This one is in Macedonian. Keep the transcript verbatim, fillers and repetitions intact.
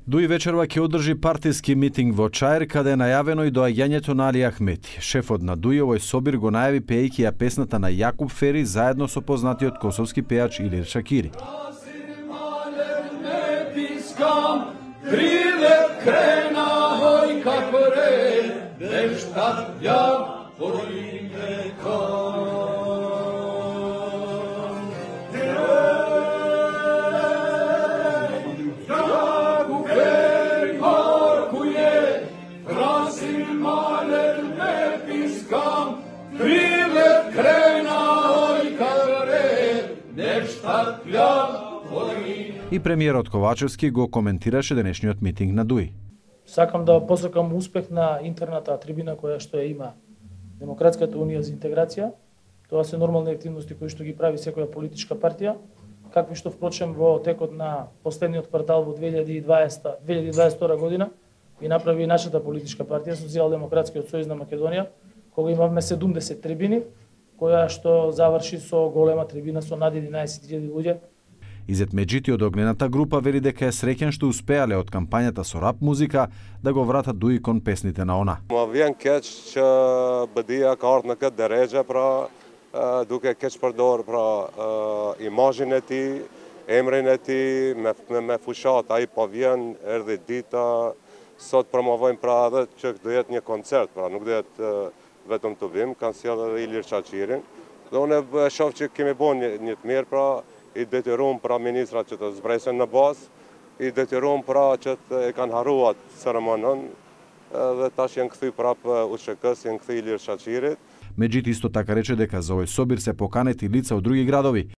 Дуи вечерва ќе одржи партиски митинг во Чаир, каде е најавено и доаѓањето на Али Ахмети. Шефот на Дуи овој собир го најави пеејќи ја песната на Јакуп Фери заедно со познатиот косовски пејач Илир Шакири. И премиерот Ковачевски го коментираше денешниот митинг на Дуи. Сакам да посакам успех на интерната трибина која што ја има Демократската унија за интеграција. Тоа се нормални активности кои што ги прави секоја политичка партија, какви што впрочем во текот на последниот квартал во две илјади и дваесета две илјади и дваесет и втора година и направи нашата политичка партија Социјалдемократскиот сојуз на Македонија, кога имавме седумдесет трибини, која што заврши со голема трибина со над единаесет илјади луѓе. Изет Меджити од огнената група вели дека е среќен што успеале од кампањата со рап музика да го вратат Дуи кон песните на она. Ма вjen keq që BD-ja ka ardhur në këtë drejtë, pra duke keq përdor pra imazhin e tij, emrin e tij me me, me fushat, ai po vjen erdhi dita, sot promovojmë pra edhe që do jetë një koncert, pra nuk do jetë vetëm të vim, kanë sjellë edhe Ilir Shaqirin. Dhe unë shoh që kemi bën një, një të mirë, pra i detyruam pra ministrat që të zbresen në bazë, i detyruam pra që të e kanë harruar ceremonin dhe tash janë kthy prapë U S H K-s, janë kthy Ilir Shaqirit. Меджити исто така рече дека за овој собир се поканети лица од други градови